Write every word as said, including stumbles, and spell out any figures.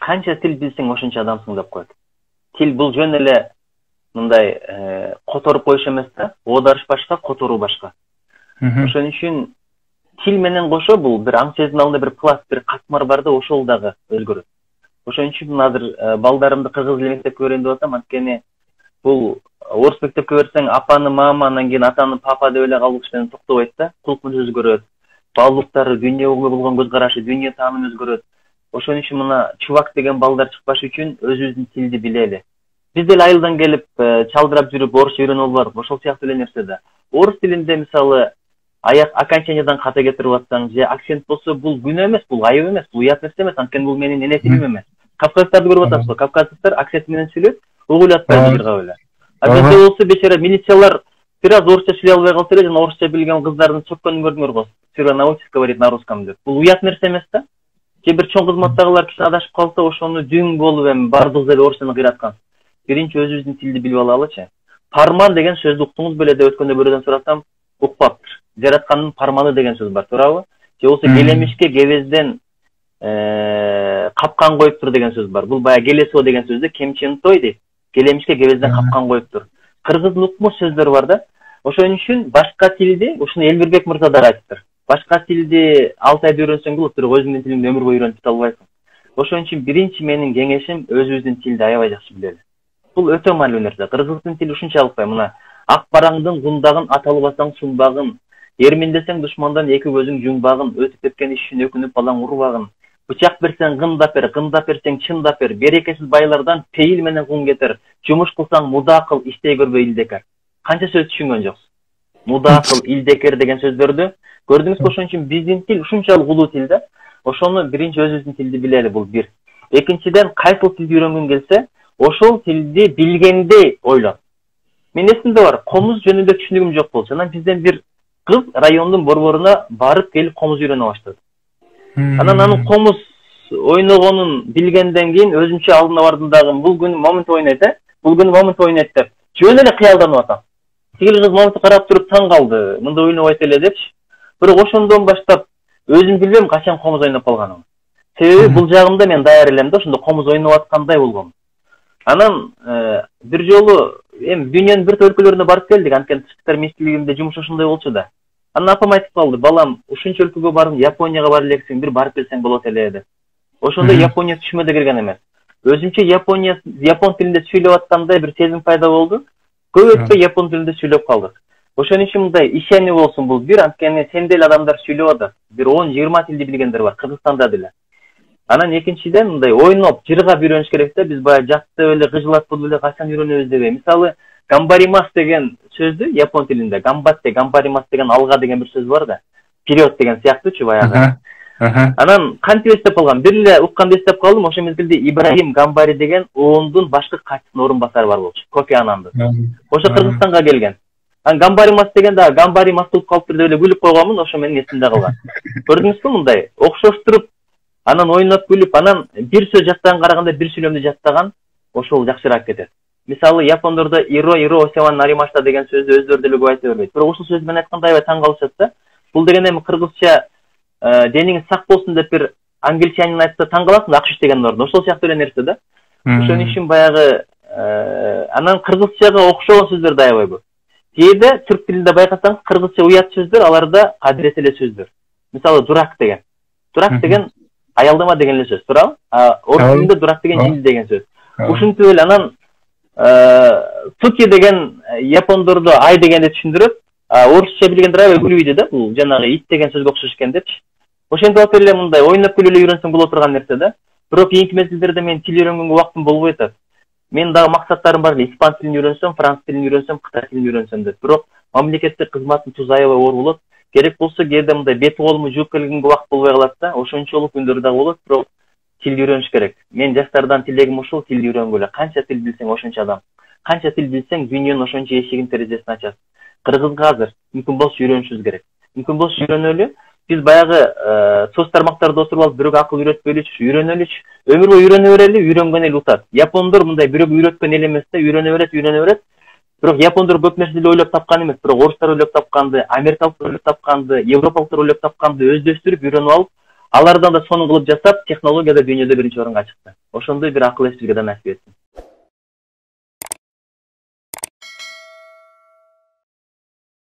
канча тил билсең ошончо адамсың деп коет. Тил бул жөн эле мындай которуп коюш эмес да, оодарыш башка, которуу башка. Ошон үчүн тил менен кошо бул бир аң сөздүн алдында бир пласт, бир катмар бар да, ошол дагы өзгөрөт. Ошон үчүн азыр балдарымды кыргыз тил мектепке берейин деп атам, анткени бул орус мектепке берсең апаны мама, анан кийин атаны папа деп эле калыш менен токтобойт да, кулкун өзгөрөт. Баалуулуктары, дүйнөгө болгон көз карашы, дүйнө таанымы өзгөрөт. Ошон үчүн мына чубак деген балдар чыкпаш үчүн өзүбүздүн тилди билели. Биз деле айылдан келип чалдырап жүрүп орусча үйрөнүп алып, ошол сыяктуу эле нерсе да. Орус тилинде мисалы аяк окончаниядан ката кетирип атсаң, же акцент болсо, бул күнөө эмес, бул айып эмес, бул уят нерсе эмес, анткени бул менин эне тилим эмес. Кавказдарды көрүп атасызбы? Кавказдыктар акцент менен сүйлөйт, угуйлап атпайбы жыргап эле. А бизде болсо бечара милициялар бир аз орусча сүйлөй албай калса эле, жана орусча билген кыздардын чөккөнүн көрдүңөр го. Сюра научись говорить на русском деп. Бул уят нерсе эмес да. Же бир чоң кызматтагылар киши адашып калса, ошону дүң болуп эми бардыгы эле орусчаны кыйраткан. Биринчи өзүбүздүн тилди билип алалычы. Парман деген сөздү уктуңуз беле деп өткөндө бирөөдөн сурасам, укпаптыр. Жараткандын парманы деген сөз бар, туурабы? Же болсо келемишке кебезден капкан коюптур деген сөз бар. Бул баягы келесо деген сөздү кемчен той дейт. Келемишке кебезден капкан коюптур. Кыргыздын укмуш сөздөр бар да. Ошон үчүн башка тилди, ушуну Элмирбек мырза да айтыптыр. Башка тилди алты айда үйрөнсөң болот, бирок өзүңдүн тилиңди өмүр бою үйрөнүп кете албайсың. Ошон үчүн биринчи менин кеңешим өзүбүздүн тилди аябай жакшы билели. Бул өтө маанилүү нерсе. Кыргыздын тили ушунчалык бай, мына ак бараңдын гундагын аталбасаң сунбагын, эрминдесең душмандан эки көзүң жумбагын, өтүп кеткен иш үчүн өкүнүп балаң урбагын. Бычак берсең гындап бер, гындап берсең чындап бер, берекесиз байлардан пейил менен кун кетер. Жумуш кылсаң муда кыл, иштей көрбөй илдекер. Канча сөз түшүнгөн жоксуз? Муда кыл, илдекер деген сөздөрдү көрдүңүзбү? Ошон үчүн биздин тил ушунчалык улуу тил да. Ошону биринчи өзүбүздүн тилди билели, бул бир. Экинчиден, кайсыл тилди үйрөнгүң келсе, ошол тилди билгендей ойлон. Мен эсимде бар, комуз жөнүндө түшүнүгүм жок болчу. Анан бизден бир кыз райондун борборуна барып келип комуз үйрөнө баштады. Анан анын комуз ойногонун билгенден кийин өзүнчө алдына бардым дагы, бул күнү момент ойнойт, э? Бул күнү момент ойнойт деп. Жөн эле кыялданып атам. Тигил кыз моментти карап туруп таң калды. Мында ойнобойт эле депчи. Бирок ошондон баштап өзүм билбейм качан комуз ойноп калганымды. Себеби бул жагымда мен даяр элем да, ошондо комуз ойноп аткандай болгом. Анан бир жолу эми дүйнөнүн бир өлкөлөрүнө барып келдик, анткени тышкы иштер министрлигинде жумуш ошондой болчу да. Анан апам айтып калды, балам, ушунча өлкөгө барып, Японияга бара элексиң, бир барып келсең болот эле деп. Ошондо Япония түшүмө кирген эмес. Өзүмчө Япония япон тилинде сүйлөп аткандай бир сезим пайда болду. Көп өтпөй япон тилинде сүйлөп калдык. Ошон үчүн мындай ишенүү болсун бул бир, анткени сен деле адамдар сүйлөп атат. Бир он жыйырма тилди билгендер бар, Кыргызстанда деле. Анан экинчиден мындай ойноп, жыргап үйрөнүш керек да. Биз баягы жаттап эле кыжылатып эле качан үйрөнөбүз дебей. Мисалы, гамбаримас деген сөздү япон тилинде гамбатте, гамбаримас деген алга деген бир сөз бар да. Вперед деген сыяктуучу баягы. Анан кантип эстеп калгам? Бир эле укканда эстеп калдым. Ошол мезгилде Ибрагим Гамбари деген оондун башкы катчысынын орун басары бар болчу. Кофи Ананды. Ошо Кыргызстанга келген. Анан гамбаримас деген да гамбаримас болуп калыптыр деп эле күлүп койгонмун, ошо менин эсимде калган. Көрдүңүзбү мындай окшоштуруп, анан ойноп күлүп, анан бир сөз жаттаган караганда бир сүйлөмдү жаттаган ошол жакшыраак кетет. Мисалы, япондордо иро иро осеман наримашта деген сөздү өздөрү деле көп айта бербейт. Бирок ушул сөз менен айтканда аябай таң калышат да. Бул деген эми кыргызча дениңиз сак болсун деп бир англичанин айтса таң каласың, акш деген ордун. Ошол сыяктуу эле нерсе да. Ошон үчүн баягы анан кыргызчага окшогон сөздөр да аябай көп. Кээде түрк тилинде байкасаңыз, кыргызча уят сөздөр, аларда кадирет эле сөздөр. Мисалы, дурак деген. Дурак деген аялдама деген эле сөз, туурабы? А орус тилинде дурак деген жил деген сөз. Ушинтип эле анан туки деген япондордо ай дегенди түшүндүрөт. Орусча билгендер аябай күлүйдү да, бул жанагы ит деген сөзгө окшош экен депчи. Ошентип атып эле мындай ойноп күлүп эле үйрөнсөң боло турган нерсе да. Бирок кийинки мезгилдерде мен тил үйрөнгөнгө убактым болбой атат. Мен дагы максаттарым бар эле, испан тилин үйрөнсөм, француз тилин үйрөнсөм, кытай тилин үйрөнсөм деп. Бирок мамлекеттик кызматтын тузу аябай оор болот. Керек болсо кээде мындай бет колуму жууп келгенге убакыт болбой калат да. Ошончолук күндөр дагы болот, бирок тил үйрөнүш керек. Мен жаштардан тилегим ушул, тил үйрөнгүлө. Канча тил билсең ошончо адам. Канча тил билсең дүйнөнүн ошончо эшигин терезесин ачат. Кыргызга азыр мүмкүн болсо үйрөнүшүбүз керек. Мүмкүн болсо үйрөнөлү. Биз баягы соц тармактарда отуруп алып бирөөгө акыл үйрөтпөйлүчү, үйрөнөлүчү. Өмүр бою үйрөнө берели, үйрөнгөн эл утат. Япондор мындай бирөөгө үйрөткөн эл эмес да, үйрөнө берет, үйрөнө берет. Бирок япондор көп нерсени ойлоп тапкан эмес, бирок орустар ойлоп тапканды, америкалыктар ойлоп тапканды, европалыктар ойлоп тапканды өздөштүрүп, үйрөнүп алып, алардан да сонун кылып жасап, технологияда дүйнөдө биринчи орунга чыкты. ошондой бир акыл эс бизге да насип этсин.